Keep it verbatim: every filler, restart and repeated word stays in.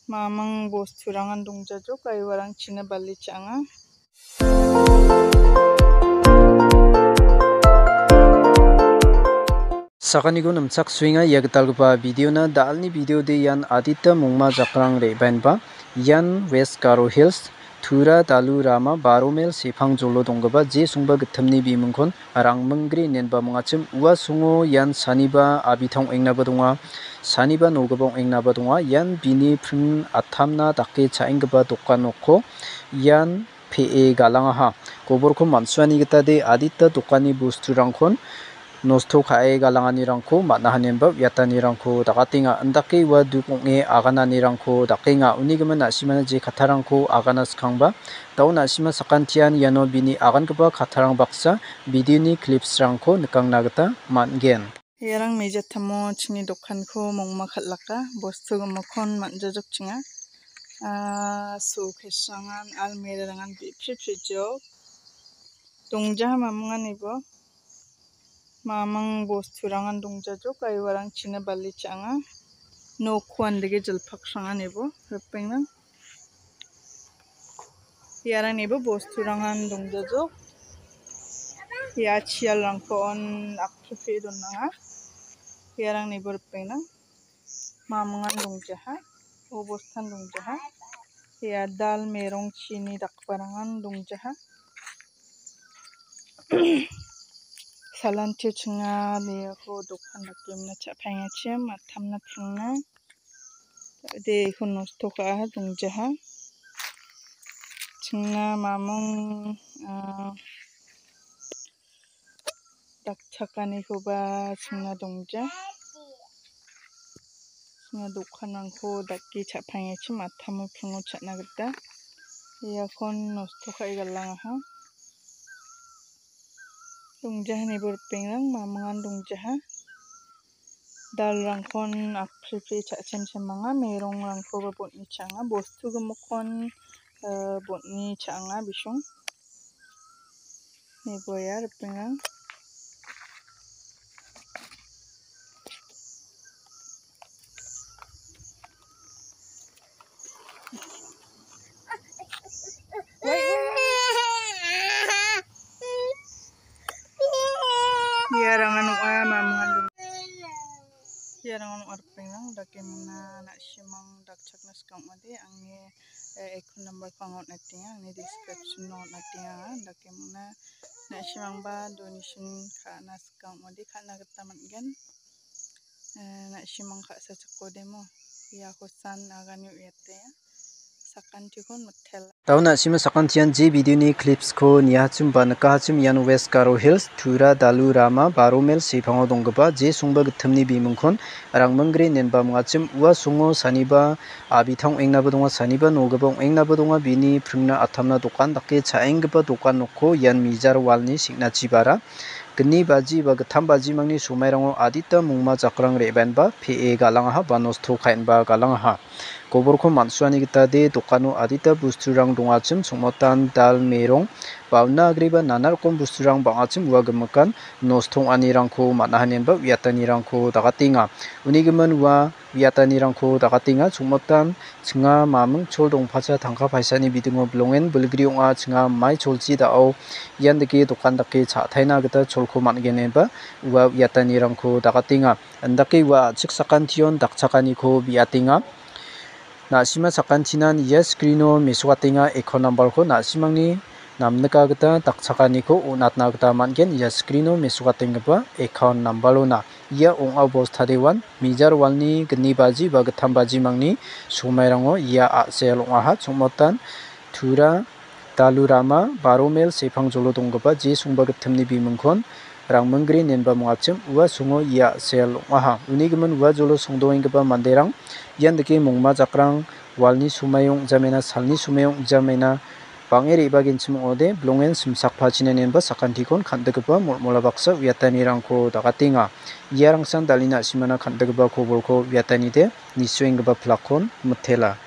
Mamang bosturangan dongjajok, aiwarangchina bali cha·anga. Sakaniko nimchaksoenga ia gitalgipa videona. Da·alni videode ian adita mongma jakrang re·baenba. Ian West Garo Hills, Tura Dalu Rama, Baro Mel sepang jolo donggipa je songba gittimni bimingkon Rangminggre inenba mingachim. Ua songo ian saniba abita ong·engnaba donga, saniba nogipa ong·engnaba donga. Ian bini pring atamna dake cha·enggipa dokan nokko ian pe·e galangaha. Goborko man·suani gitade adita dokanni bosturangkon nosto ka·e galanganirangko man·a, hanenba uiatanirangko dakatenga. Indake ua duk ong·e agananirangko dakenga. Uni gimin na·simana je kattarangko agana skangba, da·o na·sima sakantian iano bini agangipa kattarang baksa videoni clipsrangko nikangna gita man·gen. Iarang mejatamo chingni dokanko mongma kal·aka, bostu gimikkon man·jajokchenga. Ah, showcase-rangan, almirah-rangan bi·pri prijok. Dongjaha mamanganibo. Mamang bosturangan dongjajok, aiwarangchina bali cha·anga. Nokko andege jilpaksranganibo, ripengnang. Iarangnibo bosturangan dongjajok. Ia chialrangko on akpripre donanga. Iarangnibo ripengnang. Mamangan dongjaha, obostan dongjaha. Ia dal merong chini dakgiparangan dongjaha. Salantio chinga meko dokan dakemna cha·paengachim, atamna pringna. De, iko nosto ka·aha dongjaha. Chingna mamung, ah, dakchakanikoba chingna dongja. Chingna dokanrangko dake cha·paengachim, atamo pringo cha·na gita. Iakon nosto ka·e galangaha. Dongjahanibo ripengrang, mamangan dongjaha. Dalrangkon akpripri cha·chemchemanga, merongrangkoba botni cha·anga, bostu gimikkon, eh, botni cha·anga bisong. Niboya ripengrang. Iarang ong·a mamangan. Iarang ong·a ripengrang, dakemna na·simang dakchakna sika ong·ode, angni, eh, account number-ko anga on·atenga, angni description-o on·atenga, dakemna na·simangba donation ka·na sika ong·ode ka·na gita man·gen. Eh, na·simang ka·sa chakodemo, iako san agani uiate, sakantikon mitela. Da·o na·sima sakantian je videoni clipsko niahachim ba nikahachim, ian West Garo Hills, Tura Dalu Rama, Baro Mel sepango donggipa je songba gittimni bimingkon Rangminggre inenba mingachim. Ua songo saniba abita ong·engnaba donga, saniba nogipa ong·engnaba donga. Bini pringna atamna dokan dake cha·enggipa dokan nokko ian mijar walni seng·nachibara. Gni baji ba gittam bajimangni somairango adita mongma jakrang re·baenba pe·e galangaha ba nosto ka·enba galangaha. Goborko man·suani gitade dokano adita bosturang dongachim, songmotan, dal, merong, ba una agreba nana rokom bosturang bang·achim ua gimikan nosto ong·anirangko man·a hanenba uiatanirangko dakatenga. Uni gimin ua uiatanirangko dakatenga, songmotan, chinga maming chol dongpacha tangka paisani bidingo bilongen bilgri ong·a, chinga mai cholchi da·o ian dake dokan dake cha·taina gita cholko man·gen ineba ua uiatanirangko dakatenga. Indake ua a·chik sakantion dakchakaniko biatenga. Na·sima sakantinan ia screen-o mesokatenga account number-ko, na·simangni namnika gita dakchakaniko on·atna gita man·gen. Ia screen-o mesokatenggipa account number-ona ia ong·a bostadewan mijar walni gni baji ba gittam bajimangni somairango ia a·sel ong·aha. Chongmotan Tura Dalu Rama, Baro Mel sepangjolo donggipa je songba gittimni bimingkon Rangminggre inenba mingachim, ua songo ia a·sel ong·aha. Uni gimin ua jolo songdoenggipa manderang ian dake mongma jakrang walni somai ong·jamena, salni somai ong·jamena, bang·e re·bagenchim ong·ode, bilongen simsakpachina inenba sakantikon kan·dikgipa molmola baksa uiatanirangko dakatenga. Iarangsan dal·e na·simana kan·dikgipa kobolko uiatanide nisuenggipa pilakkon mitela.